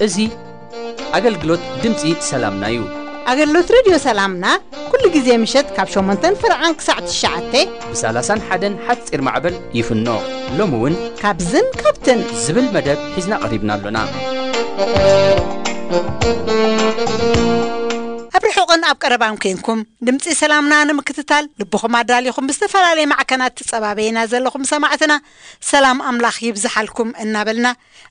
እዚ ኣገልግሎት ድምፂ ሰላምና እዩ። ኣገልግሎት ሬድዮ ሰላምና ኩሉ ግዜ ምሸት ካብ ሸሞንተን ፍርዓን ክሳዕ ትሽዓተ ብ30ን ሓደን ሓፂር ማዕበል ይፍኖ። ሎሚ እውን ካብዝን ካብትን ዝብል መደብ ሒዝና ቀሪብና ኣሎና። ኣብ ርሑቕን ኣብ ቀረባን ኮንኩም ድምፂ ሰላምና ንምክትታል ልብኹም ኣዳሊኹም ብዝተፈላለየ ማዕከናት ትጸባበዩና ዘለኹም ሰማዕትና ሰላም ኣምላኽ ይብዝሓልኩም እናበልና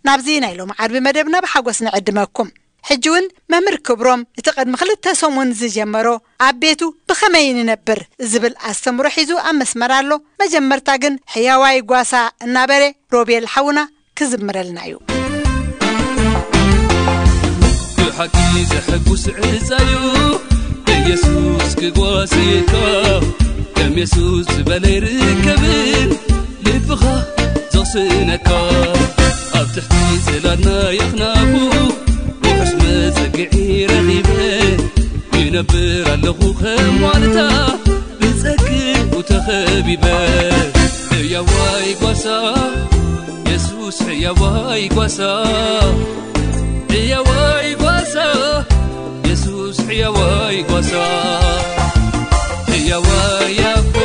ናብዚ ናይ ሎም ዓርቢ መደብና ብሓጎስ ንዕድመኩም። ሕጂ እውን መምህር ክብሮም እቲ ቅድሚ ክልተ ሰሙን ዝጀመሮ ኣብ ቤቱ ብኸመይ ንነብር ዝብል ኣስተምሮ ሒዙ ኣብ መስመር ኣሎ። መጀመርታ ግን ሕያዋይ ጓሳ እናበለ ሮቤል ሓውና ክዝምረልና እዩ። ብሓቂ ዘሐጉስ ዕፃዩ ኢየሱስ ክጓስየካ ከም የሱስ ዝበለ ይርከብን ልብኻ ዘቕስነካ ኣብ ትሕቲ ጽላልና የኽናፉ ውሑስ መጸግዒ ረኺበ ይነብር ኣለኹ ከም ዋልታ ብጸግኡ ተኸቢበ ሕያዋይ ጓሳ የሱስ ሕያዋይ ጓሳ ሕያዋይ ጓሳ የሱስ ሕያዋይ ጓሳ ሕያዋይ ኣቦ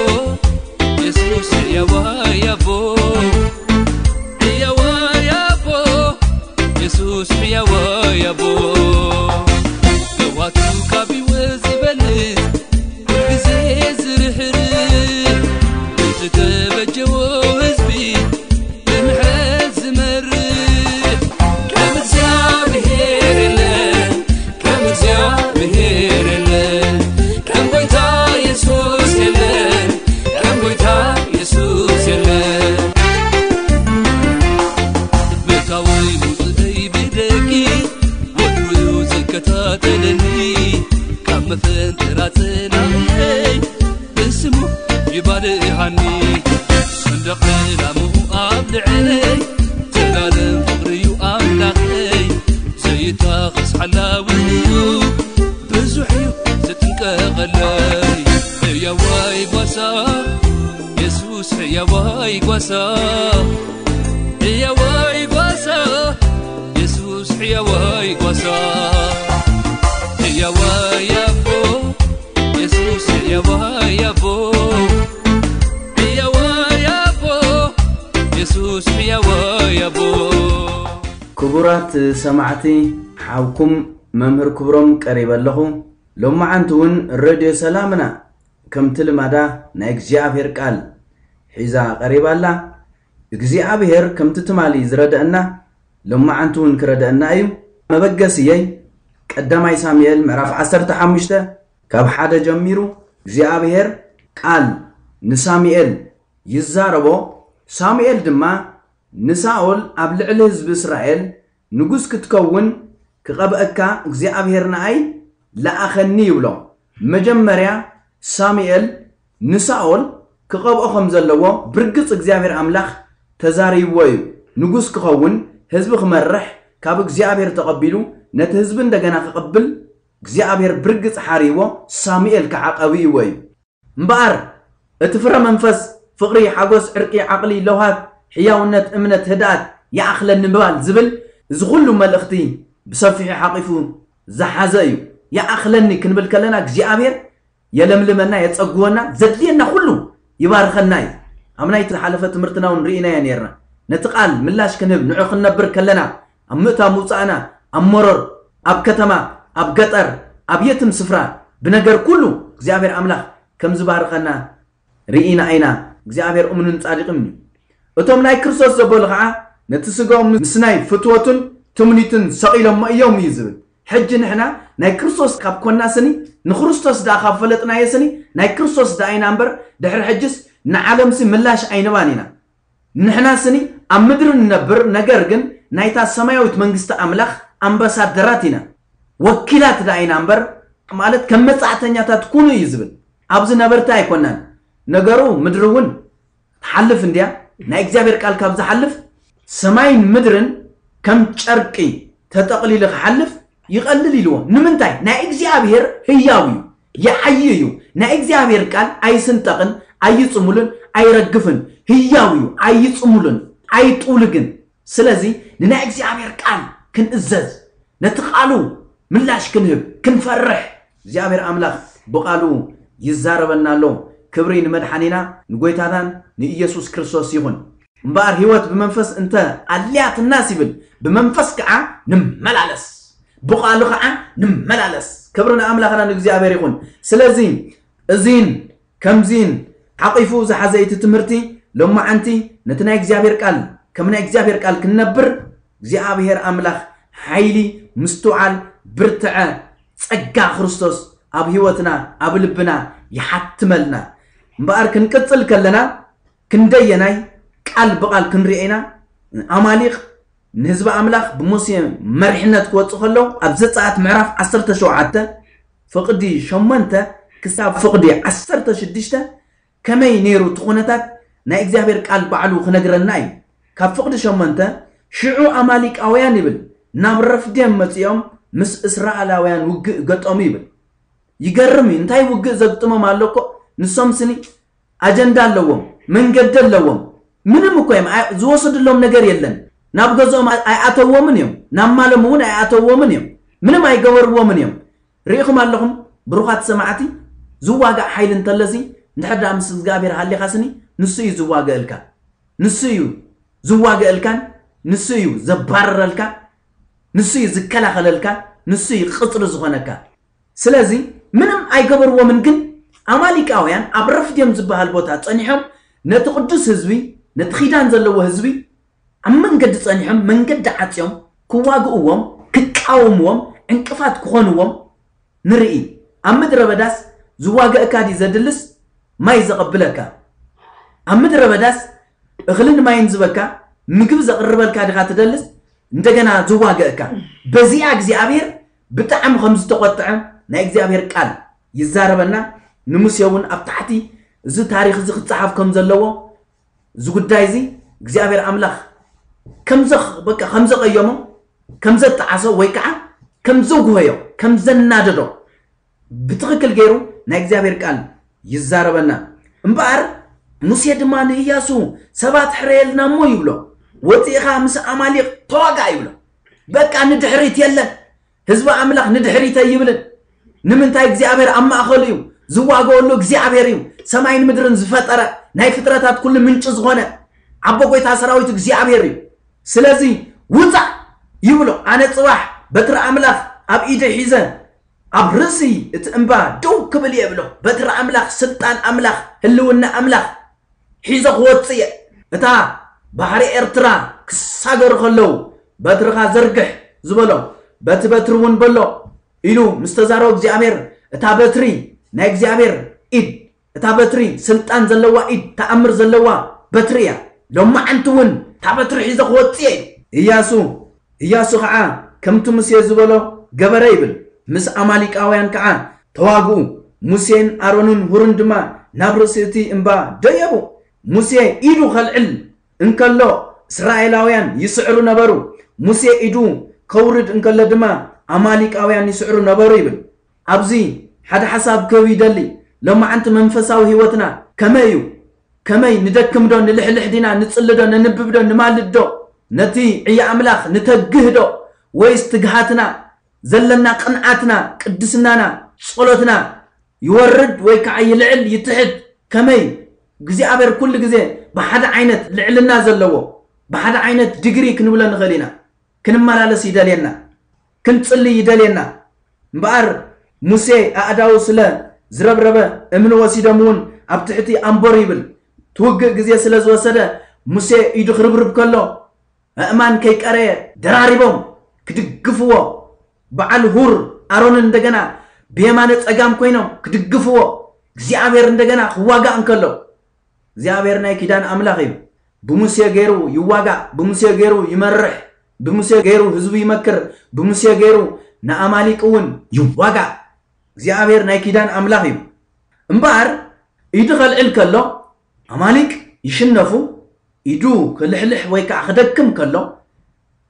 የሱስ ሕያዋይ ኣቦ ሕያዋይ ኣቦ የሱስ ሕያዋይ ኣቦ ለዋቱ ካብ ህይወት ዝበልጽ ኩልግዜ ዝርሕርሕ ንዝተበጀዎ ህዝቢ ብምሕረት ዝመርሕ ከም እግዚኣብሔር የለን ከም እግዚኣብሔር የለን ከም ጎይታ የሱስ የለን ከም ጎይታ የሱስ የለን ምእታወይ ሙፅእይ ብደጊ ወትሩ ዝከታተለኒ ካብ መፈንጥራ ጽላእየይ ብስሙ ይባልሃኒ ሰንደቕ ዕላምኡ ኣብ ልዕለይ ዘላለም ፍቕርዩ ኣምላኸይ ዘይታኸስ ሓላውንዩ ብዙሕ እዩ ዝጥንቀቐለይ ሕያዋይ ጓሳ የሱስ ሕያዋይ ጓሳ ሕያዋይ ጓሳ የሱስ ሕያዋይ ጓሳ ሕያዋይ ኣቦ የሱስ ሕያዋይ ኣቦ ሕያዋይ ኣቦ የሱስ ሕያዋይ ኣቦ ክቡራት ሰማዕቲ ሓውኩም መምህር ክብሮም ቀሪበ ኣለኹ። ሎማዓንቲ እውን ረድዮ ሰላምና ከምቲ ልማዳ ናይ እግዚኣብሔር ቃል ሒዛ ቀሪባ ኣላ። እግዚኣብሔር ከምቲ ትማሊ ዝረደአና ሎማዓንቲ እውን ክረደአና እዩ። መበገስየይ ቀዳማይ ሳሙኤል ምዕራፍ ዓሰርተ ሓሙሽተ ካብ ሓደ ጀሚሩ እግዚኣብሔር ቃል ንሳሙኤል ይዛረቦ። ሳሙኤል ድማ ንሳኦል ኣብ ልዕሊ ህዝቢ እስራኤል ንጉስ ክትከውን ክቐብአካ እግዚኣብሔር ንኣይ ለኣኸኒ ይብሎ። መጀመርያ ሳሙኤል ንሳኦል ክቐብኦ ከም ዘለዎ ብርግጽ እግዚኣብሔር ኣምላኽ ተዛሪብዎ እዩ። ንጉስ ክኸውን ህዝቢ ክመርሕ ካብ እግዚኣብሔር ተቐቢሉ ነቲ ህዝቢ እንደገና ክቕብል እግዚኣብሔር ብርግጽ ሓርይዎ ሳሙኤል ከዓ ቀቢእዎ እዩ። እምበኣር እቲ ፍረ መንፈስ ፍቕሪ፣ ሓጎስ፣ ዕርቂ፣ ዓቕሊ፣ ለውሃት፣ ሕያውነት፣ እምነት፣ ህድኣት፣ ይኣኽለኒ ምባል ዝብል እዚ ኩሉ መልእኽቲ ብሰፊሑ ሓቒፉ ዝሓዘ እዩ። ይኣኽለኒ ክንብል ከለና እግዚኣብሔር የለምልመና፣ የጸግወና፣ ዘድልየና ኩሉ ይባርኸና እዩ። ኣብ ናይ ዝሓለፈ ትምህርትና እውን ርኢናዮ ነርና። ነቲ ቃል ምላሽ ክንህብ ንዑ ክንነብር ከለና ኣብ ምእታ ምውፃእና ኣብ መሮር ኣብ ከተማ ኣብ ገጠር ኣብ የትም ስፍራ ብነገር ኩሉ እግዚኣብሔር ኣምላኽ ከም ዝባርኸና ርኢና ኢና። እግዚኣብሔር እሙንን ጻድቕን እዩ። እቶም ናይ ክርስቶስ ዘበሉ ኸዓ ነቲ ስጋኦም ምስ ናይ ፍትወቱን ትምኒቱን ሰቒሎሞ እዮም እዩ ዝብል። ሕጂ ንሕና ናይ ክርስቶስ ካብ ኮና ስኒ ንክርስቶስ ደኣ ካብ ፈለጥናዮ ስኒ ናይ ክርስቶስ ደኣ ኢና እምበር ድሕሪ ሕጅስ ንዓለምሲ ምላሽ ኣይንባን ኢና። ንሕና ስኒ ኣብ ምድሪ ንነብር፣ ነገር ግን ናይታ ሰማያዊት መንግስቲ ኣምላኽ ኣምባሳደራት ኢና፣ ወኪላት ደኣ ኢና እምበር፣ ማለት ከም መጻዕተኛታት ኩኑ እዩ ዝብል። ኣብዚ ነበርቲ ኣይኮናን። ነገሩ ምድሪ እውን ትሓልፍ እንድያ፣ ናይ እግዚኣብሔር ቃል ካብ ዝሓልፍ ሰማይን ምድርን ከም ጨርቂ ተጠቕሊሉ ክሓልፍ ይቐልል ኢልዎ። ንምንታይ? ናይ እግዚኣብሔር ህያው እዩ፣ ይዓዪ እዩ። ናይ እግዚኣብሔር ቃል ኣይስንጠቕን፣ ኣይጽሙልን፣ ኣይረግፍን። ህያው እዩ፣ ኣይጽሙልን፣ ኣይጥውልግን። ስለዚ ንናይ እግዚኣብሔር ቃል ክንእዘዝ፣ ነቲ ቃሉ ምላሽ ክንህብ፣ ክንፈርሕ፣ እግዚኣብሔር ኣምላኽ ብቃሉ ይዛረበና ኣሎ። ክብሪ ንመድሓኒና ንጎይታታን ንኢየሱስ ክርስቶስ ይኹን። እምበኣር ህይወት ብመንፈስ እንተ ኣልያትናስ ይብል፣ ብመንፈስ ከዓ ንመላለስ፣ ብቃሉ ከዓ ንመላለስ። ክብሪ ንኣምላኽና ንእግዚኣብሔር ይኹን። ስለዚ እዚን ከምዚን ሓቂፉ ዝሓዘ እቲ ትምህርቲ ሎማዓንቲ ነቲ ናይ እግዚኣብሔር ቃል ከም ናይ እግዚኣብሔር ቃል ክንነብር እግዚኣብሔር ኣምላኽ ሓይሊ፣ ምስትውዓል፣ ብርትዐ፣ ጸጋ ክርስቶስ ኣብ ህይወትና ኣብ ልብና ይሓትመልና። እምበኣር ክንቅጽል ከለና ክንደየናይ ቃል ብቓል ክንሪኦ ኢና። ኣማሊቕ ንህዝቢ ኣምላኽ ብሙሴ መሪሕነት ክወፁ ከለዉ ኣብ ዘጸኣት ምዕራፍ ዓሰርተ ሸውዓተ ፍቕዲ ሸሞንተ ክሳብ ፍቕዲ ዓሰርተ ሽዱሽተ ከመይ ነይሩ እቲ ኩነታት ናይ እግዚኣብሔር ቃል ባዕሉ ክነግረና እዩ። ካብ ፍቕዲ ሸሞንተ ሽዑ ኣማሊቃውያን ይብል ናብ ረፍዴም መጺኦም ምስ እስራኤላውያን ውግእ ገጠሙ ይብል። ይገርም እዩ። እንታይ ውግእ ዘግጥሞም ኣሎ እኮ። ንሶም ስኒ ኣጀንዳ ኣለዎም፣ መንገዲ ኣለዎም። ምንም እኮ እዮም ኣይ- ዝወሰድሎም ነገር የለን። ናብ ገዝኦም ኣይ- ኣይኣተዎምን እዮም፣ ናብ ማሎም እውን ኣይኣተዎምን እዮም። ምንም ኣይገበርዎምን እዮም። ርኢኹም ኣለኹም ብሩኻት ሰማዕቲ። ዝዋጋእ ሓይሊ እንተለሲ እንድሕር ደኣ ምስ እግዚኣብሔር ሃሊኻስኒ ንሱ እዩ ዝዋገእልካ። ንሱ እዩ ዝዋገእልካን ንሱ እዩ ዘባረረልካ። ንሱ እዩ ዝከላኸለልካ። ንሱ እዩ ቅፅሪ ዝኾነካ። ስለዚ ምንም ኣይገበርዎምን። ግን ኣማሊቃውያን ኣብ ረፍድዮም ዝበሃል ቦታ ጸኒሖም ነቲ ቅዱስ ህዝቢ፣ ነቲ ኪዳን ዘለዎ ህዝቢ ኣብ መንገዲ ጸኒሖም መንገዲ ዓጽዮም ክዋግእዎም፣ ክቃወምዎም፣ ዕንቅፋት ክኾንዎም ንርኢ። ኣብ ምድረ በዳስ ዝዋገእካ ድዩ ዘድልስ ማይ ዘቐብለካ? ኣብ ምድረ በዳስ እኽልን ማይን ዝበካ ምግቢ ዘቕርበልካ ድኻ ትደልስ? እንደገና ዝዋገእካ። በዚኣ እግዚኣብሔር ብጣዕሚ ከም ዝተቖጥዐ ናይ እግዚኣብሔር ቃል ይዛረበና። ንሙሴ እውን ኣብ ታሕቲ እዚ ታሪኽ እዚ ክፀሓፍ ከም ዘለዎ፣ እዚ ጉዳይ እዚ እግዚኣብሔር ኣምላኽ ከምዘ- በቃ ከምዘቐየሞ፣ ከምዘጠዓሶ ወይ ከዓ ከምዘጉህዮ፣ ከምዘናደዶ ብትኽክል ገይሩ ናይ እግዚኣብሔር ቃል ይዛረበና። እምበኣር ሙሴ ድማ ንእያሱ ሰባት ሕረየልና እሞ ይብሎ፣ ወፂእኻ ምስ ኣማሊቕ ተዋጋእ ይብሎ። በቃ ንድሕሪት የለን። ህዝቢ ኣምላኽ ንድሕሪት ኣይብልን። ንምንታይ? እግዚኣብሔር ኣብ ማእኸሉ እዩ። ዝዋገወሉ እግዚኣብሔር እዩ። ሰማይን ምድርን ዝፈጠረ፣ ናይ ፍጥረታት ኩሉ ምንጪ ዝኾነ ኣቦ ጎይታ ሰራዊት እግዚኣብሔር እዩ። ስለዚ ውፃእ ይብሎ። ኣነ ፅባሕ በትሪ ኣምላኽ ኣብ ኢደ ሒዘ ኣብ ርእሲ እቲ እምባ ደው ክብል እየ ብሎ። በትሪ ኣምላኽ፣ ስልጣን ኣምላኽ፣ ህልውና ኣምላኽ ሒዘ ክወፅእ እየ። እታ ባሕሪ ኤርትራ ክሳገሩ ከለዉ በትርኻ ዘርግሕ ዝበሎ፣ በቲ በትሪ እውን በሎ ኢሉ ምስ ተዛረቦ እግዚኣብሔር፣ እታ በትሪ ናይ እግዚኣብሔር ኢድ፣ እታ በትሪ ስልጣን ዘለዋ ኢድ፣ ተኣምር ዘለዋ በትሪ እያ። ሎማዓንቲ እውን እታ በትሪ ሒዘ ክወፅእ እየ። እያሱ እያሱ ኸዓ ከምቲ ሙሴ ዝበሎ ገበረ ይብል። ምስ ኣማሊቃውያን ከዓ ተዋግኡ። ሙሴን ኣሮንን ሁርን ድማ ናብ ርእሲ እቲ እምባ ደየቡ። ሙሴ ኢዱ ኸልዕል እንከሎ እስራኤላውያን ይስዕሩ ነበሩ። ሙሴ ኢዱ ከውርድ እንከሎ ድማ ኣማሊቃውያን ይስዕሩ ነበሩ ይብል። ኣብዚ ሓደ ሓሳብ ክህብ ይደሊ። ሎማዓንቲ መንፈሳዊ ህይወትና ከመይ እዩ? ከመይ ንደክም ዶ? ንልሕልሕ ዲና? ንጽሊ ዶ? ነንብብ ዶ? ንማልድ ዶ? ነቲ ዕዮ ኣምላኽ ንተግህ ዶ? ወይስ ትግሃትና፣ ዘለና ቅንዓትና፣ ቅድስናና፣ ጸሎትና ይወርድ ወይ ከዓ ይልዕል ይትሕት? ከመይ እግዚኣብሔር ኩሉ ግዜ ብሓደ ዓይነት ልዕልና ዘለዎ፣ ብሓደ ዓይነት ዲግሪ ክንብሎ ንኽእል ኢና። ክንመላለስ ይደልየና፣ ክንጽሊ ይደልየና። እምበኣር ሙሴ ኣእዳዉ ስለ ዝረብረበ እምኒ ወሲዶም እውን ኣብ ትሕቲ ኣንበሩ ይብል። ትውግእ ግዜ ስለ ዝወሰደ ሙሴ ኢዱ ክርብርብ ከሎ ኣእማን ከይቀረየ ደራሪቦም ክድግፍዎ፣ በዓል ሁር ኣሮንን እንደገና ብየማነ ጸጋም ኮይኖም ክድግፍዎ፣ እግዚኣብሔር እንደገና ክዋጋእ እንከሎ፣ እግዚኣብሔር ናይ ኪዳን ኣምላኽ እዩ። ብሙሴ ገይሩ ይዋጋእ፣ ብሙሴ ገይሩ ይመርሕ፣ ብሙሴ ገይሩ ህዝቡ ይመክር፣ ብሙሴ ገይሩ ንኣማሊቅ እውን ይዋጋእ። እግዚኣብሔር ናይ ኪዳን ኣምላኽ እዩ። እምበኣር ኢዱ ከልዕል ከሎ ኣማሊቅ ይሽነፉ፣ ኢዱ ክልሕልሕ ወይ ከዓ ክደክም ከሎ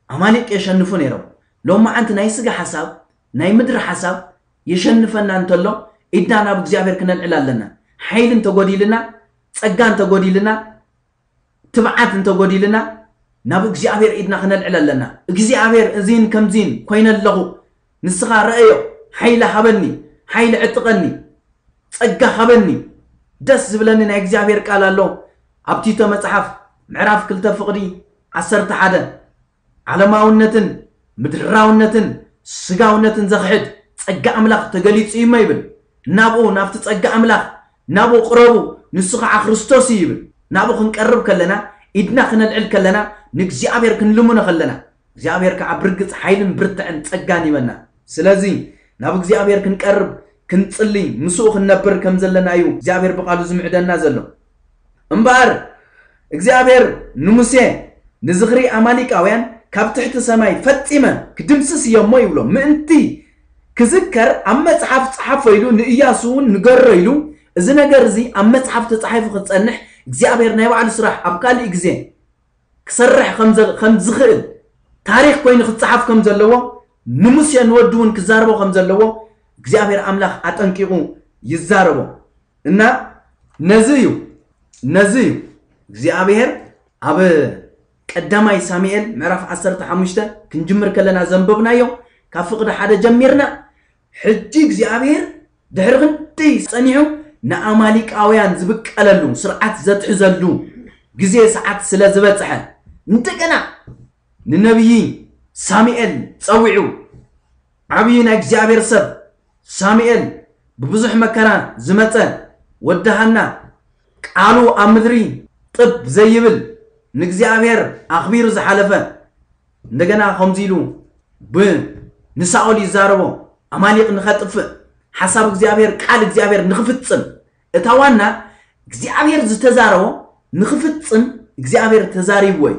ኣማሊቅ የሸንፉ ነይሮም። ሎማዓንቲ ናይ ስጋ ሓሳብ፣ ናይ ምድሪ ሓሳብ የሸንፈና እንተሎ፣ ኢድና ናብ እግዚኣብሔር ክነልዕል ኣለና። ሓይሊ እንተጎዲልና፣ ጸጋ እንተጎዲልና፣ ትብዓት እንተጎዲልና፣ ናብ እግዚኣብሔር ኢድና ክነልዕል ኣለና። እግዚኣብሔር እዚን ከምዚን ኮይነ ኣለኹ፣ ንስኻ ረእዮ፣ ሓይሊ ሃበኒ፣ ሓይሊ ዕጥቀኒ፣ ጸጋ ሃበኒ። ደስ ዝብለኒ ናይ እግዚኣብሔር ቃል ኣሎ። ኣብ ቲቶ መጽሓፍ ምዕራፍ ክልተ ፍቕዲ ዓሰርተ ሓደ፣ ዓለማውነትን ምድራውነትን ስጋውነትን ዘኽሕድ ጸጋ ኣምላኽ ተገሊጹ እዩ እሞ ይብል። ናብኡ፣ ናብቲ ጸጋ ኣምላኽ፣ ናብኡ ቅረቡ፣ ንሱ ኸዓ ክርስቶስ እዩ ይብል። ናብኡ ክንቀርብ ከለና፣ ኢድና ክነልዕል ከለና፣ ንእግዚኣብሔር ክንልምኖ ከለና፣ እግዚኣብሔር ከዓ ብርግጽ ሓይልን ብርትዕን ጸጋን ይበና። ስለዚ ናብ እግዚኣብሔር ክንቀርብ፣ ክንጽሊ፣ ምስኡ ክንነብር ከም ዘለና እዩ እግዚኣብሔር ብቃሉ ዝምዕደና ዘሎ። እምበኣር እግዚኣብሔር ንሙሴ፣ "ንዝኽሪ ኣማሊቃውያን ካብ ትሕቲ ሰማይ ፈጺመ ክድምስስ እየ እሞ" ይብሎ። ምእንቲ ክዝከር ኣብ መጽሓፍ ጸሓፎ ኢሉ ንእያሱ እውን ንገሮ ኢሉ፣ እዚ ነገር እዚ ኣብ መጽሓፍ ተጻሒፉ ክጸንሕ እግዚኣብሔር ናይ ባዕሉ ስራሕ ኣብ ካልእ ግዜ ክሰርሕ ከም ዘ-፣ ከም ዝኽእል፣ ታሪኽ ኮይኑ ክጸሓፍ ከም ዘለዎ፣ ንሙሴ ንወዱ እውን ክዛረቦ ከም ዘለዎ እግዚኣብሔር ኣምላኽ ኣጠንቂቑ ይዛረቦ። እና ነዚ እዩ፣ ነዚ እዩ እግዚኣብሔር ኣብ ቀዳማይ ሳሙኤል ምዕራፍ ዓሰርተ ሓሙሽተ ክንጅምር ከለና ዘንበብናዮ፣ ካብ ፍቕዲ ሓደ ጀሚርና፣ ሕጂ እግዚኣብሔር ድሕሪ ክንደይ ጸኒሑ ንኣማሊቃውያን ዝብቀለሉ ስርዓት ዘትሕዘሉ ግዜ ሰዓት ስለ ዝበጽሐ፣ እንደገና ንነቢይ ሳሙኤል ጸዊዑ፣ ዓብዪ ናይ እግዚኣብሔር ሰብ ሳሙኤል፣ ብብዙሕ መከራ ዝመጸ፣ ወዲ ሃና፣ ቃሉ ኣብ ምድሪ ጥብ ዘይብል፣ ንእግዚኣብሔር ኣኽቢሩ ዝሓለፈ፣ እንደገና ከምዚ ኢሉ ብ-፣ ንሳኦል ይዛረቦ፣ ኣማሊቕ ንኸጥፍእ፣ ሓሳብ እግዚኣብሔር፣ ቃል እግዚኣብሔር ንኽፍጽም። እታ ዋና እግዚኣብሔር ዝተዛረቦ ንኽፍጽም እግዚኣብሔር ተዛሪብዎ እዩ።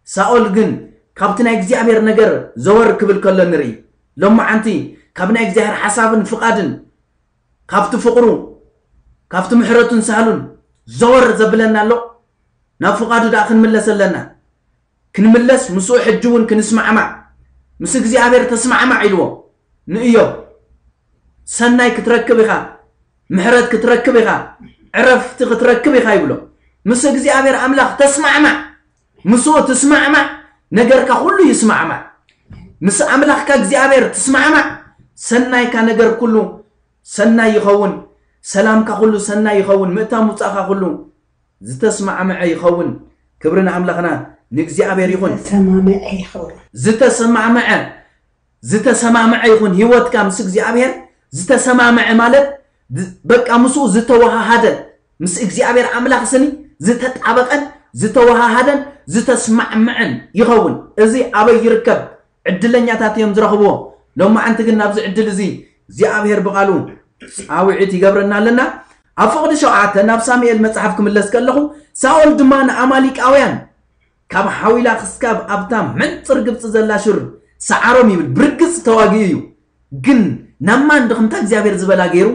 ሳኦል ግን ካብቲ ናይ እግዚኣብሔር ነገር ዘወር ክብል ከሎ ንርኢ። ሎማዓንቲ ካብ ናይ እግዚኣብሔር ሓሳብን ፍቓድን፣ ካብቲ ፍቕሩ፣ ካብቲ ምሕረቱን ሳህሉን ዘወር ዘብለና ኣሎ። ናብ ፍቓዱ ደኣ ክንምለስ ኣለና። ክንምለስ፣ ምስኡ ሕጂ እውን ክንስማዕማዕ፣ ምስ እግዚኣብሔር ተስማዕማዕ ኢልዎ ንእዮብ። ሰናይ ክትረክብ ኢኻ፣ ምሕረት ክትረክብ ኢኻ፣ ዕረፍቲ ክትረክብ ኢኻ ይብሎ። ምስ እግዚኣብሔር ኣምላኽ ተስማዕማዕ፣ ምስኡ ትስማዕማዕ፣ ነገርካ ኩሉ ይስማዕማዕ። ምስ ኣምላኽካ እግዚኣብሔር ትስማዕማዕ፣ ሰናይካ ነገር ኩሉ ሰናይ ይኸውን፣ ሰላምካ ኩሉ ሰናይ ይኸውን፣ ምእታው ምውጻእካ ኩሉ ዝተስማዕመዐ ይኸውን። ክብሪ ንኣምላኽና ንእግዚኣብሔር ይኹን። ዝተሰማምዐ ይኸውን። ዝተሰማምዐ፣ ዝተሰማምዐ ይኹን ህይወትካ ምስ እግዚኣብሔር። ዝተሰማምዐ ማለት ዝ-፣ በቃ ምስኡ ዝተወሃሃደ፣ ምስ እግዚኣብሔር ኣምላኽ ስኒ ዝተጣበቀን ዝተወሃሃደን ዝተስማዕምዐን ይኸውን። እዚ ኣበይ ይርከብ? ዕድለኛታት እዮም ዝረኽብዎ። ሎማዓንቲ ግን ናብዚ ዕድል እዚ እግዚኣብሔር ብቓሉ ጻውዒት ይገብረና ኣለና። ኣብ ፍቕዲ ሸውዓተ ናብ ሳሙኤል መጽሓፍ ክምለስ ከለኹ፣ ሳኦል ድማ ንኣማሊቃውያን ካብ ሓዊላ ክስካብ ኣብታ መንጽር ግብጺ ዘላ ሹር ሰዓሮም ይብል። ብርግጽ ተዋጊኡ እዩ። ግን ናብ ማን ድኽምታ እግዚኣብሔር ዝበላ ገይሩ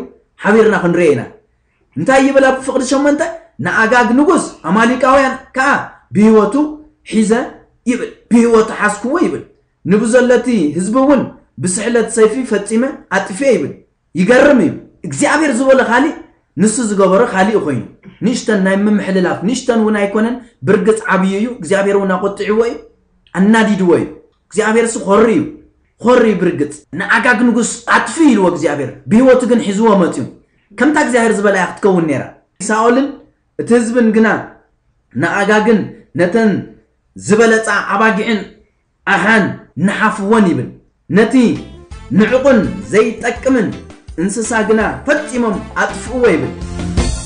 ሓቢርና ክንርኦ ኢና። እንታይ ይብል ኣብ ፍቕዲ ሸሞንተ? ንኣጋግ ንጉስ ኣማሊቃውያን ከኣ ብህይወቱ ሒዘ ይብል፣ ብህይወቱ ሓዝክዎ ይብል። ንብዘለቲ ህዝቢ እውን ብስሕለት ሰይፊ ፈጺመ ኣጥፍኤ ይብል። ይገርም እዩ። እግዚኣብሔር ዝበሎ ካሊእ፣ ንሱ ዝገበሮ ካሊእ ኮይኑ፣ ንእሽተን ናይ ምምሕልላፍ፣ ንእሽተን እውን ኣይኮነን። ብርግጽ ዓብዪ እዩ። እግዚኣብሔር እውን ኣቆጢዕዎ እዩ፣ ኣናዲድዎ እዩ። እግዚኣብሔር እሱ ኾሪ እዩ፣ ኾሪ እዩ ብርግጽ። ንኣጋግ ንጉስ ኣጥፊ ኢልዎ እግዚኣብሔር፣ ብህይወቱ ግን ሒዝዎ መፅዩ። ከምታ እግዚኣብሔር ዝበላ እያ ክትከውን ነይራ። ሳኦልን እቲ ህዝብን ግና ንኣጋግን ነተን ዝበለጻ ኣባጊዕን ኣሓን ንሓፍወን ይብል። ነቲ ንዕቑን ዘይጠቅምን እንስሳ ግና ፈጺሞም ኣጥፍእዎ ይብል።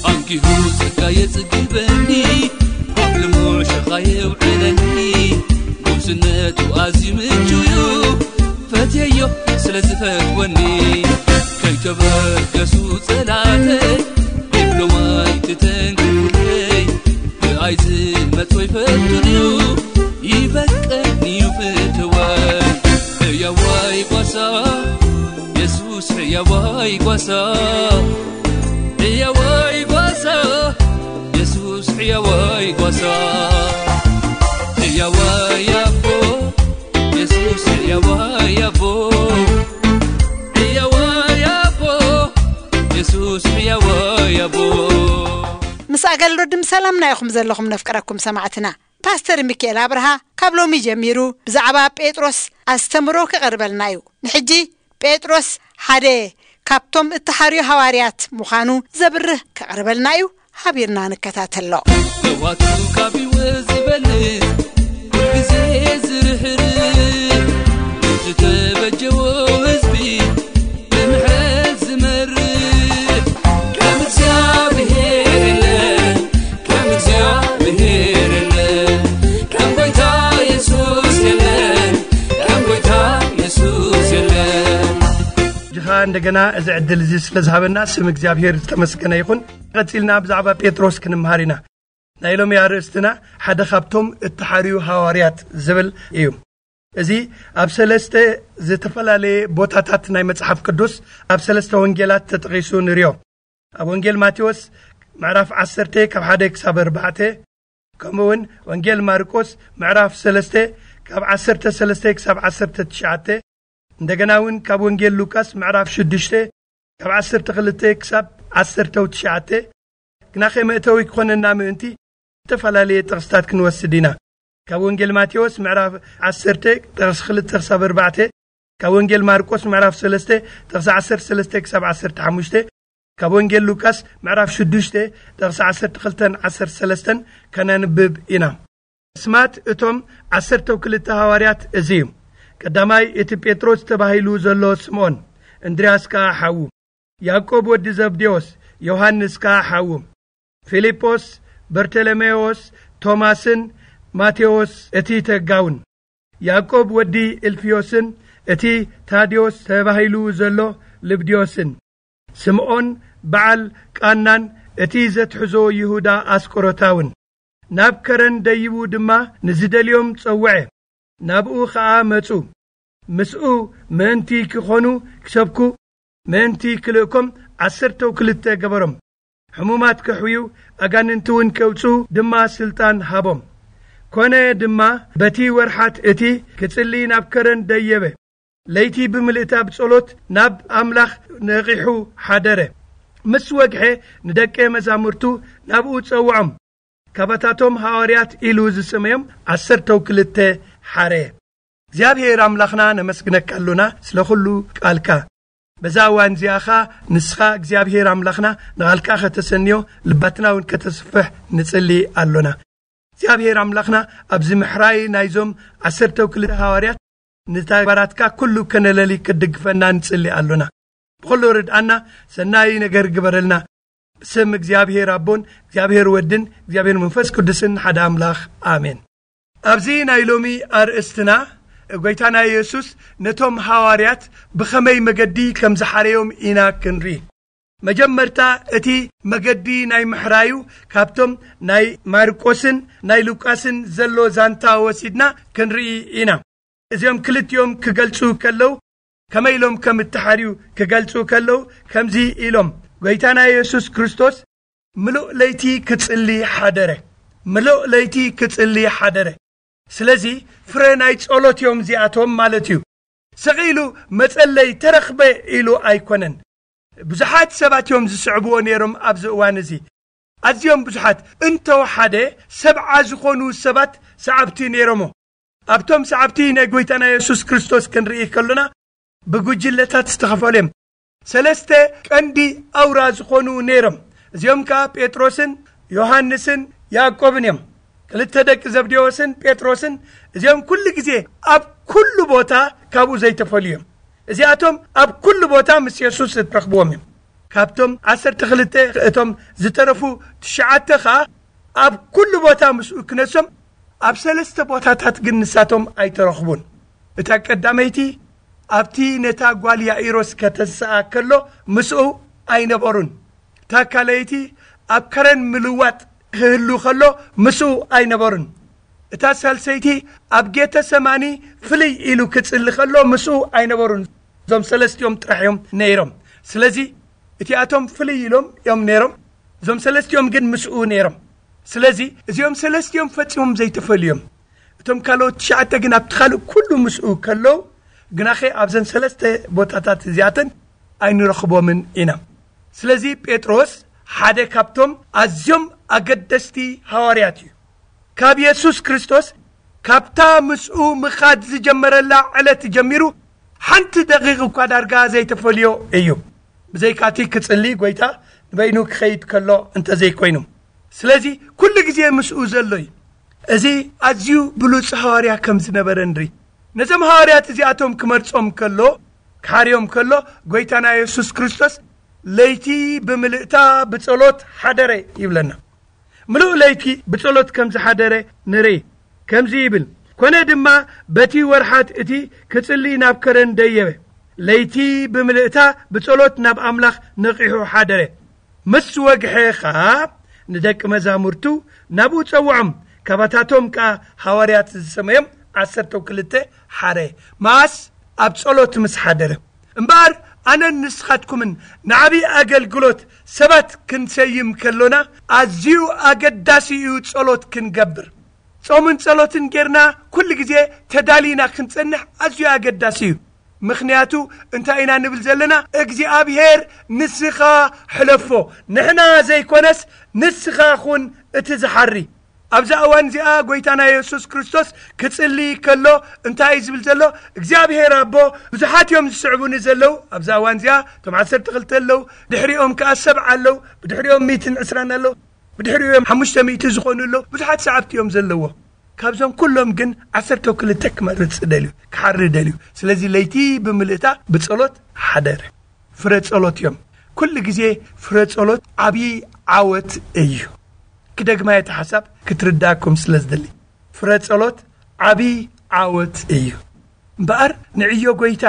ኣንኪሁ ጸጋ የጽግበኒ፣ ኣብ ልሙዕ ሸኻ የውዕለኒ። ጉብዝነቱ ኣዝዩ ምቹ እዩ፣ ፈትየዮ ስለ ዝፈትወኒ። ከይተበገሱ ጸላእተይ፣ ዲፕሎማይ ትተንክፉለይ። ብኣይ ዝመጾ ይፈቱን እዩ፣ ይበቀኒ እዩ ፍትወይ። ሕያዋይ ጓሳ፣ የሱስ ሕያዋይ ጓሳ። ሕያዋይ ጓሳ፣ የሱስ ሕያዋይ ጓሳ። ሕያዋይ ኣቦ የሱስ፣ ሕያዋይ ኣቦ፣ ሕያዋይ ኣቦ የሱስ፣ ሕያዋይ ኣቦ። ምስ ኣገልግሎት ድምፂ ሰላምና ኢኹም ዘለኹም ነፍቅረኩም ሰማዕትና። ፓስተር ሚካኤል ኣብርሃ ካብ ሎሚ ጀሚሩ ብዛዕባ ጴጥሮስ ኣስተምሮ ክቐርበልና እዩ። ንሕጂ ጴጥሮስ ሓደ ካብቶም እተሓርዩ ሃዋርያት ምዃኑ ዘብርህ ክቐርበልና እዩ። ሓቢርና ንከታተሎ። ለዋቱ ካብ ህይወት ዝበልጽ ኩልግዜ ዝርሕርሕ፣ ነቲ ተበጀዎ ህዝቢ ብምሕረት ዝመርሕ፣ ከም እግዚኣብሔር የለን፣ ከም እግዚኣብሔር የለን፣ ከም ጎይታ የሱስ የለን፣ ከም ጎይታ የሱስ የለን። ሕጂ ኸኣ እንደገና እዚ ዕድል እዚ ስለ ዝሃበና ስም እግዚኣብሔር ዝተመስገነ ይኹን። ቀጺልና ብዛዕባ ጴጥሮስ ክንምሃር ኢና። ናይ ሎሚ ኣርእስትና ሓደ ካብቶም እተሓርዩ ሃዋርያት ዝብል እዩ። እዚ ኣብ ሰለስተ ዝተፈላለየ ቦታታት ናይ መጽሓፍ ቅዱስ ኣብ ሰለስተ ወንጌላት ተጠቒሱ ንርዮ። ኣብ ወንጌል ማቴዎስ ምዕራፍ ዓሰርተ ካብ ሓደ ክሳብ ኣርባዕተ፣ ከምኡ እውን ወንጌል ማርቆስ ምዕራፍ ሰለስተ ካብ ዓሰርተ ሰለስተ ክሳብ ዓሰርተ ትሽዓተ፣ እንደገና እውን ካብ ወንጌል ሉቃስ ምዕራፍ ሽዱሽተ ካብ ዓሰርተ ክልተ ክሳብ ዓሰርተ ትሽዓተ፣ ግናኸ መእተዊ ክኾነና ምእንቲ ዝተፈላለየ ጥቕስታት ክንወስድ ኢና። ካብ ወንጌል ማቴዎስ ምዕራፍ ዓሰርተ ጥቕሲ ክልተ ክሳብ ኣርባዕተ፣ ካብ ወንጌል ማርቆስ ምዕራፍ ሰለስተ ጥቕሲ ዓሰርተ ሰለስተ ክሳብ ዓሰርተ ሓሙሽተ፣ ካብ ወንጌል ሉቃስ ምዕራፍ ሽዱሽተ ጥቕሲ ዓሰርተ ክልተን ዓሰርተ ሰለስተን ከነንብብ ኢና። ስማት እቶም ዓሰርተው ክልተ ሃዋርያት እዚ እዩ። ቀዳማይ እቲ ጴጥሮስ ተባሂሉ ዘሎ ስምዖን፣ እንድርያስ ከኣ ሓዉ፣ ያዕቆብ ወዲ ዘብዴዎስ፣ ዮሃንስ ከኣ ሓዉ፣ ፊልጶስ፣ በርተሎሜዎስ፣ ቶማስን ማቴዎስ እቲ ተጋውን፣ ያዕቆብ ወዲ እልፍዮስን እቲ ታድዮስ ተባሂሉ ዘሎ ልብድዮስን፣ ስምዖን በዓል ቃናን እቲ ዘትሕዞ ይሁዳ ኣስቆሮታውን። ናብ ከረን ደይቡ ድማ ንዝደልዮም ጸውዐ፣ ናብኡ ኸኣ መጹ። ምስኡ ምእንቲ ኪኾኑ ኪሰብኩ፣ ምእንቲ ክልእኮም ዓሰርተው ክልተ ገበሮም። ሕሙማት ከሕውዩ፣ ኣጋንንቲ እውን ከውጽኡ ድማ ስልጣን ሃቦም። ኮነ ድማ በቲ ወርሓት እቲ ክጽሊ ናብ ከረን ደየበ። ለይቲ ብምልእታ ብጸሎት ናብ ኣምላኽ ነቒሑ ሓደረ። ምስ ወግሐ ንደቀ መዛሙርቱ ናብኡ ጸውዖም። ካባታቶም ሃዋርያት ኢሉ ዝሰመዮም ዓሰርተው ክልተ ሓረ። እግዚኣብሔር ኣምላኽና ነመስግነካ ኣሎና ስለ ኹሉ ቃልካ። በዛ እዋን እዚኣ ኸኣ ንስኻ እግዚኣብሔር ኣምላኽና ንቓልካ ከተሰንዮ ልባትና እውን ከተስፍሕ ንጽሊ ኣሎና። እግዚኣብሔር ኣምላኽና ኣብዚ ምሕራይ ናይዞም ዓሰርተው ክልተ ሃዋርያት ንተግባራትካ ኩሉ ከነለሊ ክትድግፈና ንጽሊ ኣሎና። ብኹሉ ርድኣና፣ ሰናይ ነገር ግበረልና። ብስም እግዚኣብሔር ኣቦን እግዚኣብሔር ወድን እግዚኣብሔር መንፈስ ቅዱስን ሓደ ኣምላኽ ኣሜን። ኣብዚ ናይ ሎሚ ኣርእስትና ጎይታና የሱስ ነቶም ሃዋርያት ብኸመይ መገዲ ከም ዝሓረዮም ኢና ክንርኢ። መጀመርታ እቲ መገዲ ናይ ምሕራዩ ካብቶም ናይ ማርቆስን ናይ ሉቃስን ዘሎ ዛንታ ወሲድና ክንርኢ ኢና። እዚኦም ክልቲኦም ክገልጹ ከለዉ፣ ከመይ ኢሎም ከም እተሓርዩ ክገልጹ ከለዉ፣ ከምዚ ኢሎም፣ ጎይታና የሱስ ክርስቶስ ምሉእ ለይቲ ክጽሊ ሓደረ። ምሉእ ለይቲ ክጽሊ ሓደረ። ስለዚ ፍረ ናይ ጸሎት እዮም እዚኣቶም ማለት እዩ። ስቕ ኢሉ መጸለይ ተረኽበ ኢሉ ኣይኮነን። ብዙሓት ሰባት እዮም ዝስዕብዎ ነይሮም ኣብዚ እዋን እዚ። ኣዝዮም ብዙሓት፣ እንተወሓደ ሰብዓ ዝኾኑ ሰባት ሰዓብቲ ነይሮሞ። ኣብቶም ሰዓብቲ ናይ ጎይታና የሱስ ክርስቶስ ክንርኢ ከሎና ብጉጅለታት ዝተኸፈሉ እዮም። ሰለስተ ቀንዲ ኣውራ ዝኾኑ ነይሮም። እዚኦም ከኣ ጴጥሮስን ዮሃንስን ያዕቆብን እዮም። ክልተ ደቂ ዘብዴዎስን ጴጥሮስን፣ እዚኦም ኩሉ ግዜ ኣብ ኩሉ ቦታ ካብኡ ዘይተፈልዩ እዮም። እዚኣቶም ኣብ ኩሉ ቦታ ምስ የሱስ እትረኽብዎም እዮም። ካብቶም ዓሰርተ ክልተ እቶም ዝተረፉ ትሽዓተ ኸኣ ኣብ ኩሉ ቦታ ምስኡ ክነሶም ኣብ ሰለስተ ቦታታት ግን ንሳቶም ኣይተረኽቡን። እታ ቀዳመይቲ ኣብቲ ነታ ጓል ያኢሮስ ከተንስኣ ከሎ ምስኡ ኣይነበሩን። እታ ካልኣይቲ ኣብ ከረን ምልዋጥ ክህሉ ከሎ ምስኡ ኣይነበሩን። እታ ሳልሰይቲ ኣብ ጌተ ሰማኒ ፍልይ ኢሉ ክጽሊ ከሎ ምስኡ ኣይነበሩን። እዞም ሰለስቲኦም ጥራሕ እዮም ነይሮም። ስለዚ እቲኣቶም ፍልይ ኢሎም እዮም ነይሮም፣ እዞም ሰለስቲኦም ግን ምስኡ ነይሮም። ስለዚ እዚኦም ሰለስቲኦም ፈጺሞም ዘይተፈልዩ እዮም። እቶም ካልኦት ትሽዓተ ግን ኣብቲ ካልእ ኩሉ ምስኡ ከለዉ፣ ግናኸ ኣብዘን ሰለስተ ቦታታት እዚኣተን ኣይንረኽቦምን ኢና። ስለዚ ጴጥሮስ ሓደ ካብቶም ኣዝዮም ኣገደስቲ ሃዋርያት እዩ። ካብ የሱስ ክርስቶስ፣ ካብታ ምስኡ ምኻድ ዝጀመረላ ዕለት ጀሚሩ፣ ሓንቲ ደቂቕ እኳ ዳርጋ ዘይተፈልዮ እዩ። ብዘይካቲ ክጽሊ፣ ጐይታ ንበይኑ ክኸይድ ከሎ እንተዘይኮይኑ። ስለዚ ኩሉ ግዜ ምስኡ ዘሎ እዩ። እዚ ኣዝዩ ብሉጽ ሃዋርያ ከም ዝነበረ ንርኢ። ነዞም ሃዋርያት እዚኣቶም ክመርጾም ከሎ፣ ክሓርዮም ከሎ፣ ጐይታና የሱስ ክርስቶስ፣ "ለይቲ ብምልእታ ብጸሎት ሓደረ" ይብለና። ምሉእ ለይቲ ብጸሎት ከም ዝሓደረ ንርኢ። ከምዚ ይብል፣ "ኮነ ድማ በቲ ወርሓት እቲ ክጽሊ ናብ ከረን ደየበ። ለይቲ ብምልእታ ብጸሎት ናብ ኣምላኽ ነቒሑ ሓደረ። ምስ ወግሐ ኸኣ ንደቂ መዛሙርቱ ናብኡ ጸውዖም፣ ካባታቶም ከኣ ሃዋርያት ዝሰመዮም ዓሰርተው ክልተ ሓረ። መኣስ? ኣብ ጸሎት ምስ ሓደረ። እምበኣር ኣነን ንስኻትኩምን ንዓብዪ ኣገልግሎት ሰባት ክንሰይም ከሎና፣ ኣዝዩ ኣገዳሲ እዩ ጸሎት ክንገብር። ጾምን ጸሎትን ጌርና ኩሉ ግዜ ተዳሊና ክንጸንሕ ኣዝዩ ኣገዳሲ እዩ። ምኽንያቱ እንታይ ኢና ንብል ዘለና? እግዚኣብሔር ንስኻ ሕለፎ፣ ንሕና ዘይኮነስ ንስኻ ኹን እቲ ዝሓሪ። ኣብዛ እዋን እዚኣ ጐይታና የሱስ ክርስቶስ ክጽሊ ከሎ እንታይ እዩ ዝብል ዘሎ? "እግዚኣብሔር ኣቦ፣ ብዙሓት እዮም ዝስዕቡኒ ዘለዉ።" ኣብዛ እዋን እዚኣ እቶም ዓሰርተ ክልተ ኣለዉ፣ ድሕሪኦም ከኣ ሰብዓ ኣለዉ፣ ብድሕሪኦም ሚእትን ዕስራን ኣለዉ፣ ብድሕሪኦም ሓሙሽተ ሚእቲ ዝኾኑ ኣለዉ። ብዙሓት ሰዓብቲ እዮም ዘለዎ። ካብዞም ኩሎም ግን ዓሰርተ ክልተ ክመርጽ ደልዩ፣ ክሓሪ ደልዩ። ስለዚ ለይቲ ብምልእታ ብጸሎት ሓደረ። ፍረ ጸሎት እዮም። ኩሉ ግዜ ፍረ ጸሎት ዓብዪ ዓወት እዩ። ክደግማ እቲ ሓሳብ ክትርዳእኩም ስለ ዝደሊ። ፍረ ጸሎት ዓብዪ ዓወት እዩ። እምበኣር ንዕዮ ጐይታ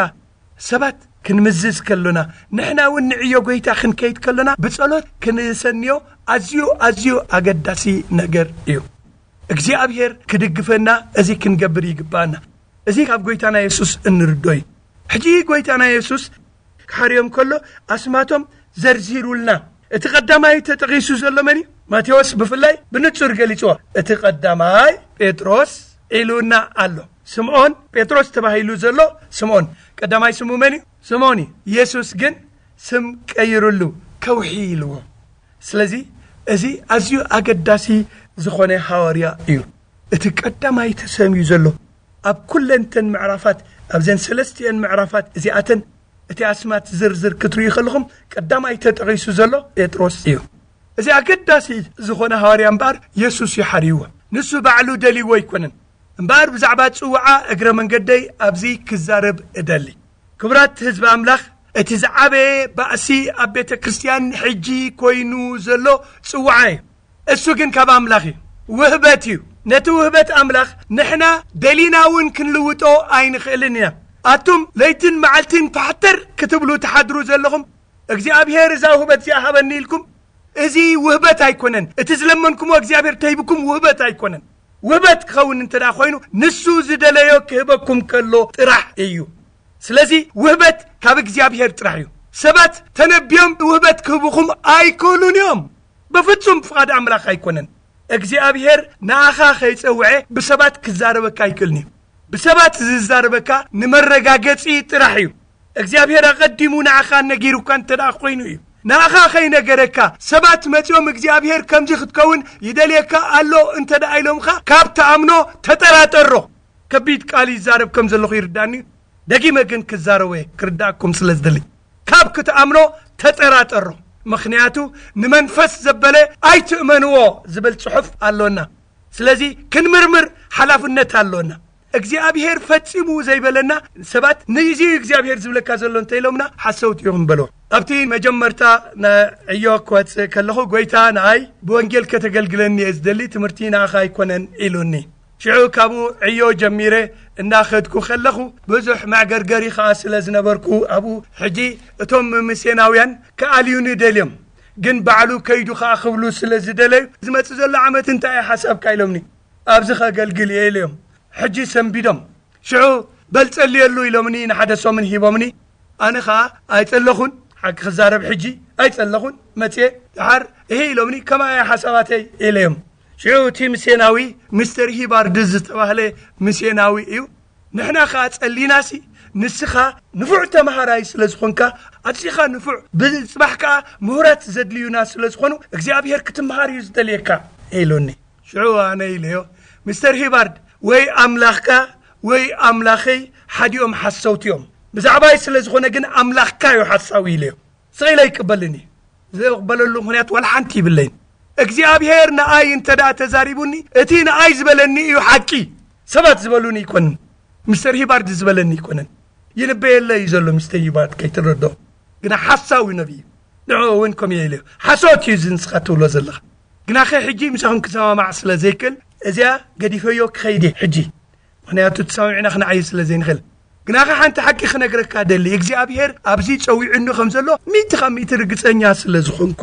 ሰባት ክንምዝዝ ከሎና፣ ንሕና እውን ንዕዮ ጐይታ ክንከይድ ከሎና ብጸሎት ክንሰንዮ ኣዝዩ፣ ኣዝዩ ኣገዳሲ ነገር እዩ። እግዚኣብሔር ክድግፈና እዚ ክንገብር ይግባኣና። እዚ ካብ ጐይታና የሱስ እንርዶ እዩ። ሕጂ ጐይታና የሱስ ክሓርዮም ከሎ ኣስማቶም ዘርዚሩልና። እቲ ቀዳማይ ተጠቒሱ ዘሎ መን እዩ? ማቴዎስ ብፍላይ ብንጹር ገሊጽዎ። እቲ ቀዳማይ ጴጥሮስ ኢሉና ኣሎ። ስምዖን ጴጥሮስ ተባሂሉ ዘሎ ስምዖን ቀዳማይ ስሙ መን እዩ? ስምዖን እዩ። የሱስ ግን ስም ቀይሩሉ ከውሒ ኢልዎ። ስለዚ እዚ ኣዝዩ ኣገዳሲ ዝኾነ ሃዋርያ እዩ። እቲ ቀዳማይ ተሰምዩ ዘሎ ኣብ ኩለንተን ምዕራፋት፣ ኣብዘን ሰለስቲአን ምዕራፋት እዚኣተን እቲ ኣስማት ዝርዝር ክትርእዩ ከለኹም ቀዳማይ ተጠቒሱ ዘሎ ጴጥሮስ እዩ። እዚ ኣገዳሲ ዝኾነ ሃዋርያ እምበኣር የሱስ እዩ ሓርይዎ። ንሱ ባዕሉ ደልይዎ ኣይኮነን። እምበኣር ብዛዕባ ጽውዓ እግረ መንገደይ ኣብዚ ክዛረብ እደሊ። ክቡራት ህዝቢ ኣምላኽ፣ እቲ ዝዓበየ ባእሲ ኣብ ቤተ ክርስቲያን ሕጂ ኮይኑ ዘሎ ጽውዓ እዩ። እሱ ግን ካብ ኣምላኽ እዩ፣ ውህበት እዩ። ነቲ ውህበት ኣምላኽ ንሕና ደሊና እውን ክንልውጦ ኣይንኽእልን ኢና። ኣቱም ለይትን መዓልትን ፋሕተር ክትብሉ ትሓድሩ ዘለኹም፣ እግዚኣብሔር እዛ ውህበት እዚኣ ሃበኒ ኢልኩም፣ እዚ ውህበት ኣይኮነን። እቲ ዝለመንኩሞ እግዚኣብሔር ተሂብኩም ውህበት ኣይኮነን። ውህበት ክኸውን እንተ ደኣ ኮይኑ፣ ንሱ ዝደለዮ ክህበኩም ከሎ ጥራሕ እዩ። ስለዚ ውህበት ካብ እግዚኣብሔር ጥራሕ እዩ። ሰባት ተነቢዮም ውህበት ክህቡኹም ኣይክእሉን እዮም። በፍጹም ፍቓድ ኣምላኽ ኣይኮነን። እግዚኣብሔር ንኣኻ ከይጸውዐ ብሰባት ክዛረበካ ኣይክእልን እዩ። ብሰባት ዝዛረበካ ንመረጋገጺ ጥራሕ እዩ። እግዚኣብሔር ኣቐዲሙ ንኣኻ ነጊሩካ እንተ ደኣ ኮይኑ እዩ። ንኣኻ ከይነገረካ፣ ሰባት መጺኦም እግዚኣብሔር ከምዚ ክትከውን ይደልየካ ኣሎ እንተ ደኣ ኢሎምኻ፣ ካብ ትኣምኖ ተጠራጠሮ። ከቢድ ቃል ይዛረብ ከም ዘለኹ ይርዳኒ እዩ። ደጊመ ግን ክዛረቦ እየ፣ ክርዳእኩም ስለ ዝደሊ። ካብ ክትኣምኖ ተጠራጠሮ። ምኽንያቱ ንመንፈስ ዘበለ ኣይትእመንዎ ዝብል ጽሑፍ ኣሎና። ስለዚ ክንምርምር ሓላፍነት ኣሎና። እግዚኣብሔር ፈጺሙ ዘይበለና ሰባት፣ ንእዚ እዩ እግዚኣብሔር ዝብለካ ዘሎ እንተ ኢሎምና፣ ሓሰውቲ ኢኹም በልዎ። ኣብቲ መጀመርታ ንዕዮ ክወጽእ ከለኹ፣ ጐይታ ንኣይ ብወንጌል ከተገልግለኒ እየ ዝደሊ፣ ትምህርቲ ንኣኻ ኣይኮነን ኢሉኒ። ሽዑ ካብኡ ዕዮ ጀሚረ እናኸድኩ ከለኹ፣ ብዙሕ መዕገርገሪ ኸኣ ስለ ዝነበርኩ ኣብኡ፣ ሕጂ እቶም ሚስዮናውያን ክኣልዩኒ ደልዮም፣ ግን ባዕሉ ከይዱ ኸኣ ክብሉ ስለ ዝደለዩ፣ ዝመጽእ ዘሎ ዓመት እንታይ እዩ ሓሳብካ ኢሎምኒ። ኣብዚ ኸገልግል እየ ኢለዮም። ሕጂ ሰንቢዶም። ሽዑ በል ጸልየሉ ኢሎምኒ፣ ንሓደ ሰሙን ሂቦምኒ። ኣነ ኸኣ ኣይጸለኹን፣ ሓቂ ክዛረብ ሕጂ ኣይጸለኹን፣ መጽየ ደሓር እሄ ኢሎምኒ፣ ከማይ እየ ሓሳባተይ ኢለዮም። ሽዑ እቲ ምስዮናዊ፣ ሚስተር ሂባርድ ዝተባህለ ምስዮናዊ እዩ። ንሕና ኸኣ ጸሊናሲ፣ ንስኻ ንፉዕ ተማሃራይ ስለ ዝኾንካ፣ ኣዚኻ ንፉዕ፣ ብጽባሕ ከኣ ምሁራት ዘድልዩና ስለ ዝኾኑ፣ እግዚኣብሔር ክትምሃር እዩ ዝደልየካ፣ ኢሉኒ። ሽዑ ኣነ ኢለዮ፣ ሚስተር ሂባርድ፣ ወይ ኣምላኽካ ወይ ኣምላኸይ ሓዲኦም ሓሰውቲ እዮም። ብዛዕባይ ስለ ዝኾነ ግን ኣምላኽካ እዩ ሓሳዊ ኢለዮ። ስቕ ኢለ ኣይቅበልን እዩ። ዘቕበለሉ ምኽንያት ዋላ ሓንቲ ይብለይን። እግዚኣብሔር ንኣይ እንተ ደኣ ተዛሪቡኒ፣ እቲ ንኣይ ዝበለኒ እዩ ሓቂ። ሰባት ዝበሉኒ ኣይኮንን። ሚስተር ሂባርድ ዝበለኒ ኣይኮነን። ይንበየለ እዩ ዘሎ ሚስተር ሂባርድ ከይትረድኦ። ግና ሓሳዊ ነቢይ እዩ። ንዕኡ እውን ከምኡ ኢለ እዩ። ሓሶት እዩ እዚ ንስኻ ትብሎ ዘለኻ። ግናኸ ሕጂ ምሳኹም ክሰማማዕ ስለ ዘይክእል፣ እዚኣ ገዲፈዮ ክኸይድ እየ ሕጂ። ምኽንያቱ ተሰማሚዕና ክንዓዩ ስለ ዘይንኽእል። ግናኸ ሓንቲ ሓቂ ክነግረካ ደሊ፣ እግዚኣብሔር ኣብዚ ጸዊዑኒ ከም ዘሎ ሚእቲ ካብ ሚእቲ ርግጸኛ ስለ ዝኾንኩ፣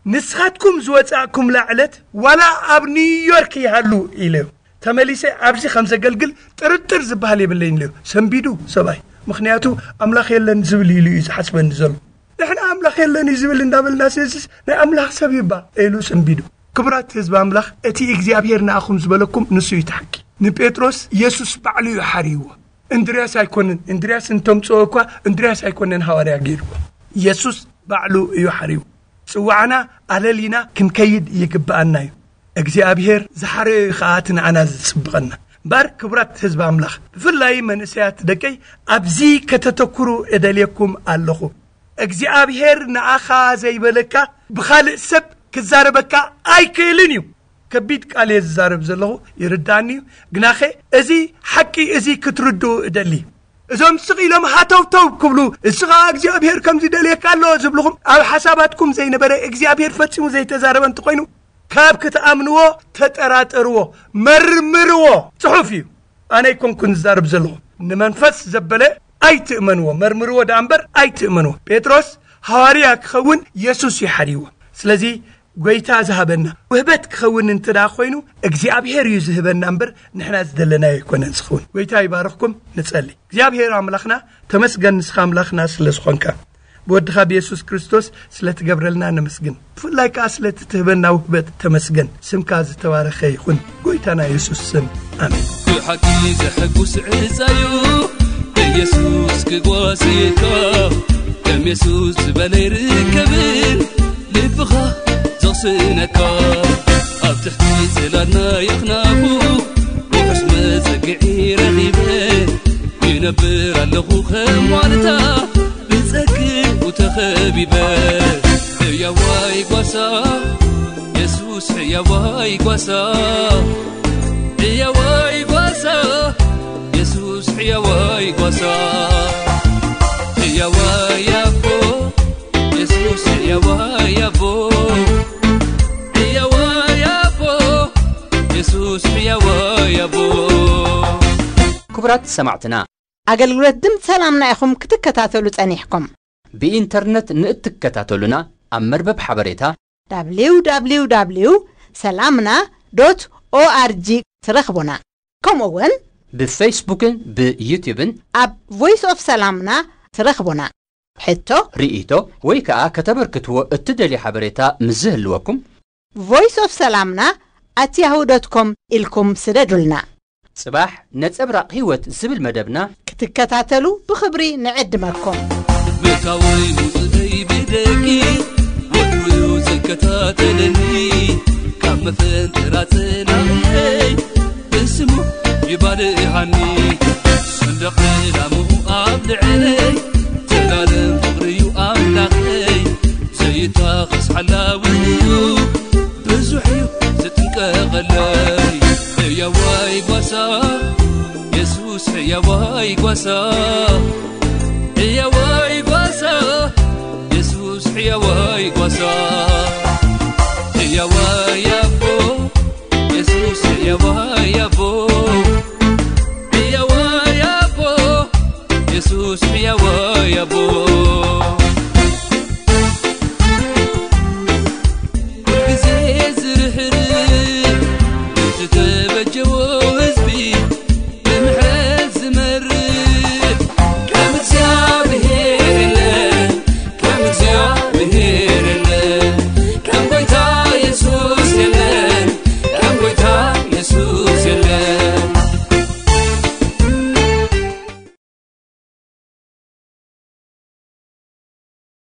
ንስኻትኩም ዝወጻእኩምላ ዕለት ዋላ ኣብ ኒውዮርክ ይሃሉ ኢለዮ። ተመሊሰ ኣብዚ ከም ዘገልግል ጥርጥር ዝበሃል የብለይን ኢለዮ። ሰንቢዱ ሰብኣይ። ምኽንያቱ ኣምላኽ የለን ዝብል ኢሉ እዩ ዝሓስበኒ ዘሎ። ንሕና ኣምላኽ የለን እዩ ዝብል እንዳበልና፣ ስለዚስ ናይ ኣምላኽ ሰብ ይባ ኢሉ ሰንቢዱ። ክቡራት ህዝቢ ኣምላኽ፣ እቲ እግዚኣብሔር ንኣኹም ዝበለኩም ንሱ እዩ እቲ ሓቂ። ንጴጥሮስ የሱስ ባዕሉ እዩ ሓርይዎ። እንድርያስ ኣይኮነን። እንድርያስ እንተምጽኦ እኳ እንድርያስ ኣይኮነን ሃዋርያ ገይርዎ። የሱስ ባዕሉ እዩ ሓርይዎ። ጽዋዕና ኣለሊና ክንከይድ ይግብኣና እዩ። እግዚኣብሔር ዝሓረዮ እዩ ከኣ እቲ ንዓና ዝጽብቐና። እምበኣር ክቡራት ህዝቢ ኣምላኽ፣ ብፍላይ መንእሰያት ደቀይ፣ ኣብዚ ከተተኩሩ እደልየኩም ኣለኹ። እግዚኣብሔር ንኣኻ ዘይበለካ ብኻልእ ሰብ ክዛረበካ ኣይክእልን እዩ። ከቢድ ቃል እየ ዝዛረብ ዘለኹ፣ ይርዳእኒ እዩ። ግናኸ እዚ ሓቂ እዚ ክትርድኡ እደሊ። እዞም ስቕ ኢሎም ሃተውተው ክብሉ፣ "እሱ ኸዓ እግዚኣብሔር ከምዚ ደልየካ ኣሎ" ዝብልኹም፣ ኣብ ሓሳባትኩም ዘይነበረ፣ እግዚኣብሔር ፈጺሙ ዘይተዛረበ እንተኾይኑ፣ ካብ ክትኣምንዎ ተጠራጠርዎ፣ መርምርዎ። ጽሑፍ እዩ። ኣነ ኣይኮንኩን ዝዛረብ ዘለኹ። ንመንፈስ ዘበለ ኣይትእመንዎ፣ መርምርዎ ደኣ እምበር ኣይትእመንዎ። ጴጥሮስ ሃዋርያ ክኸውን የሱስ እዩ ሓርይዎ። ስለዚ ጐይታ ዝሃበና ውህበት ክኸውን እንተ ደኣ ኾይኑ፣ እግዚኣብሔር እዩ ዝህበና እምበር ንሕና ዝደለናዮ ኣይኮነን ዝኸውን። ጐይታ ይባርኽኩም። ንጸሊ። እግዚኣብሔር ኣምላኽና፣ ተመስገን ንስኻ ኣምላኽና ስለ ዝኾንካ። ብወድኻ ብየሱስ ክርስቶስ ስለ ትገብረልና ነመስግን። ብፍላይ ከኣ ስለ እቲ ትህበና ውህበት ተመስገን። ስምካ ዝተባረኸ ይኹን። ጐይታና የሱስ ስም። ኣሜን። ብሓቂ ዘሐጉስ ዕጻዩ ኢየሱስ ክጓዝየካ፣ ከም የሱስ ዝበለ ይርከብን ልብኻ ዘቕስነካ። ኣብ ትሕቲ ጽላል ናይ ኣኽናፉ ውሑስ መጸግዒ ረኺበ፣ ይነብር ኣለኹ ከም ዋልታ ብጸግኡ ተኸቢበ። ሕያዋይ ጓሳ የሱስ፣ ሕያዋይ ጓሳ፣ ሕያዋይ ጓሳ የሱስ፣ ሕያዋይ ጓሳ፣ ሕያዋይ ኣቦ የሱስ፣ ሕያዋይ ኣቦ፣ ሕያዋይ ኣቦ የሱስ፣ ሕያዋይ ኣቦ። ክቡራት ሰማዕትና፣ ኣገልግሎት ድምፂ ሰላምና ኢኹም ክትከታተሉ ጸኒሕኩም። ብኢንተርነት ንእትከታተሉና፣ ኣብ መርበብ ሓበሬታ ደብሊው ደብሊው ደብሊው ሰላምና ዶት ኦኣርጂ ትረኽቡና። ከምኡ እውን ብፌስቡክን ብዩትዩብን ኣብ ቮይስ ኦፍ ሰላምና ትረኽቡና። ሕቶ፣ ርእይቶ ወይ ከኣ ከተበርክትዎ እትደልዩ ሓበሬታ ምስ ዝህልወኩም፣ ቮይስ ኦፍ ሰላምና ኣት ያሁ ዶት ኮም ኢልኩም ስደዱልና። ጽባሕ ነጸብራቕ ህይወት ዝብል መደብና ክትከታተሉ ብኽብሪ ንዕድመኩም። ምእታወይ ምውጽእይ ብደጊ ወትሩ እዩ ዝከታተለኒ፣ ካብ መፈንጠራ ጽላእየይ ብስሙ ይባልሃኒ። ሰንደቕ ዕላምኡ ኣብ ልዕለይ፣ ዘላለም ፍቕሪ እዩ ኣምላኸይ፣ ዘይታኸስ ሓላዊ እዩ፣ ብዙሕ እዩ ዝጥንቀቐለይ። ሕያዋይ ጓሳ የሱስ፣ ሕያዋይ ጓሳ፣ ሕያዋይ ጓሳ የሱስ፣ ሕያዋይ ጓሳ፣ ሕያዋይ ኣቦ የሱስ፣ ሕያዋይ ኣቦ፣ ሕያዋይ ኣቦ የሱስ፣ ሕያዋይ ኣቦ።